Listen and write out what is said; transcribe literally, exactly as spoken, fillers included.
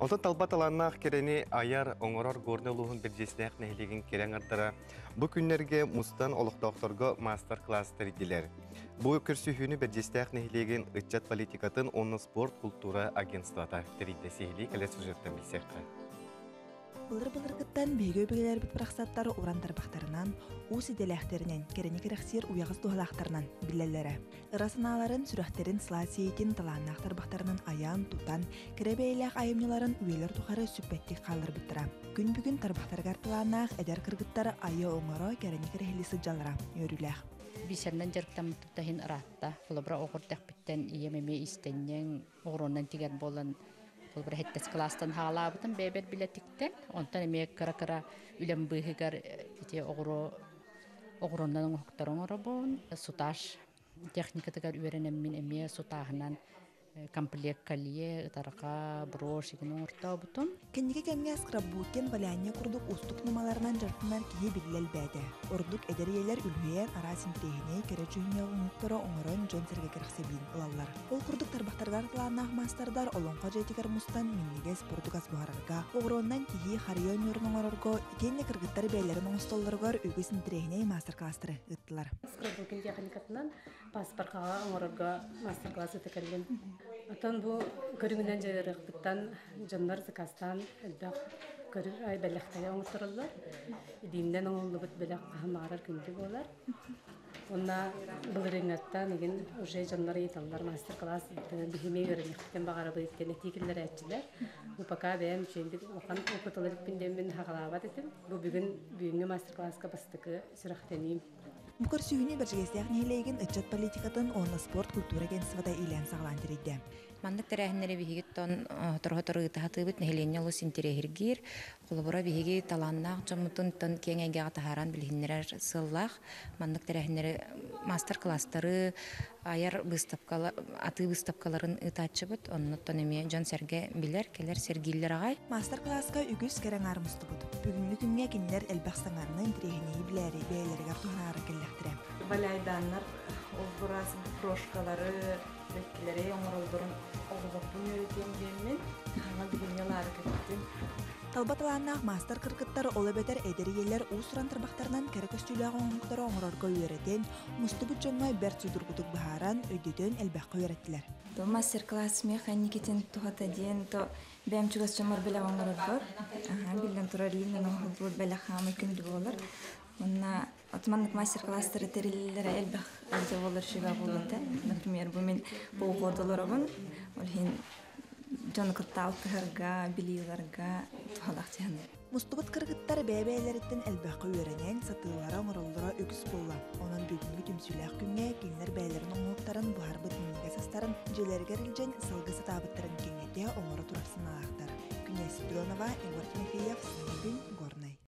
Онтон талба талааннаах кэрэни айар, оҥорор Горнай улууһун Бэрдьигэстээх нэһилиэгин кэрэ аҥардара бу күннэргэ мустан олохтоохторго маастар-класс тэрийдилэр. Бу көрсүһүүнү Бэрдьигэстээх нэһилиэгин ыччат политикатын уонна спорт култуура агентствота тэрийдэ. Сиһилии кэлэр сюжеттан билсиэххэ. Былыр-былыргыттан биһиги өбүгэлэрбит барахсаттар уран тарбахтарынан, уус идэлээхтэринэн, кэрэни кэрэхсиир уйаҕас дууһалаахтарынан биллэллэрэ. Ыра санааларын, сүрэхтэрин сылаас иэйиитин талааннаах тарбахтарынан айан, тутан, кэрэ бэйэлээх айымньыларын үйэлэр тухары сүппэттик хаалларбыттара. Күн бүгүн тарбахтарыгар талааннаах эдэр кыргыттар айа оҥоро, кэрэни кэрэһилии сылдьаллара үөрүүлээх. Бисеринэн дьарыктаммыт иһин ыраатта. Холобура оҕо эрдэхпиттэн ийэм эмиэ иистэнньэҥ, оҕуруонан тигэр буолан холобура сэттис кылаастан саҕалаабытым бэйэбэр билэтиктэн. Онтон эмиэ кыра-кыра үлэм быыһыгар ити оҕуруо оҕуруонан оҥоһуктар оҥоробун. Сутаж техникатыгар үөрэнэммин эмиэ сутааһынан комплект колье, ытарҕа, брошь игин оҥортообутум. Кэнники кэмҥэ скрапбукинг, валяние курдук уустук ньымаларынан дьарыктанар киһи биллэ элбээтэ. Ордук эдэр ийэлэр үлүһүйэн араас интэриэһинэй кэрэ дьүһүннээх оҥоһуктары оҥорон дьон-сэргэ кэрэхсэбилин ылаллар. Ол курдук тарбахтарыгар талааннаах маастардар Олоҥхо дьиэтигэр мустан минньигэс бурдук ас буһарарга, оҕуруоннан киһи харыйа оонньуурун оҥорорго, итиэннэ кыргыттар бэйэлэрин оҥостоллоругар үгүс интэриэһинэй маастар-класстары ыыттылар. Скрапбукинг техникатынан паспоркаҕа оҥорорго мастер-класс ыыта кэллим. Оттон бу көрүҥүнэн дьарыктаныахпыттан дьоннор заказтаан элбэх бэлэхтэри оҥоттороллор. Илиинэн оҥоһуллубут бэлэх хаһан баҕарар күндү буолар. Онно былырыыҥҥаттан игин уже дьоннор ыйыталлар мастер-класс биһиги үөрэниэхпитин баҕарабыт диэн этии киллэрээччилэр. Бу пока бэйэм үчүгэйдик улахан опыт ылар иликпин саҕалаабат этим. Бу бүгүн бүгүҥҥү мастер-класска бастакы сүрэхтэниим. Бу көрсүһүүнү Бэрдьигэстээх нэһилиэгин ыччат политикатын уонна спорт культура агентствота иилээн саҕалаан тэрийдэ. Маннык тэрээһиннэри биһиги сотору-сотору ыыта сатыыбыт нэһилиэнньэ олус интэриэһиргиир. Холобура биһиги талааннаах дьоммутун тон киэҥ эйгэҕэ таһааран билиһиннэрэр сыаллаах. Маннык тэрээһиннэри мастер-класстары, айар выставкалар, атыы выставкаларын ыытааччыбыт. Оннуттан эмиэ дьон-сэргэ билэр, кэлэр сэргииллэр аҕай. Мастер-класска үгүс кэрэ аҥаар мустубут. Бүгүҥҥү күҥҥэ кинилэр элбэх саҥаны интэриэһинэйи билээри бэйэлэригэр туһанаары кэллэхтэрэ. Валяйдааннар олбурас брошкалары, бэккилэри оҥороллорун оҕолорбун үөрэтиэм диэммин, хаҥа билиҥҥэ лаары кэттим. Талба талааннаах маастар кыргыттар ол эбэтэр эдэр ийэлэр уус-уран тарбахтарынан кэрэ көстүүлээх оҥоһуктары оҥорорго үөрэтэн, мустубут дьоҥҥо бэрт судургутук быһааран, өйдөтөн элбэххэ үөрэттилэр. То мастер-класс механикитин тухата диэн, то бэйэм чугас дьоммор бэлэх оҥорорбор. Аха, биллэн турар илиинэн оҥоһуллубут бэлэх хаамай күндү буолар. Онно отманнык мастер-класстары тэриллэллэрэ элбэх ыалдьа буолар үчүгэй буолуо этэ. Например, бу мин полгода олоробун, ол иһин дьону кытта алтыһарга, билии ыларга туһалаах дьаһанар. Мустубут кыргыттар бэйэ-бэйэлэриттэн элбэххэ үөрэнэн, сатыыллара оҥороллоро үгүс буолла. Онон бүгүҥҥү түмсүүлээх күҥҥэ кинилэр бэйэлэрин оҥоһуктарын буһарбыт минньигэс астарын дьиэлэригэр илдьэн салгыы сатаабыттарын кэҥэтэ оҥоро турар санаалаахтар. Күнэ Спиридонова, Егор Тимофеев, Саҥа күн,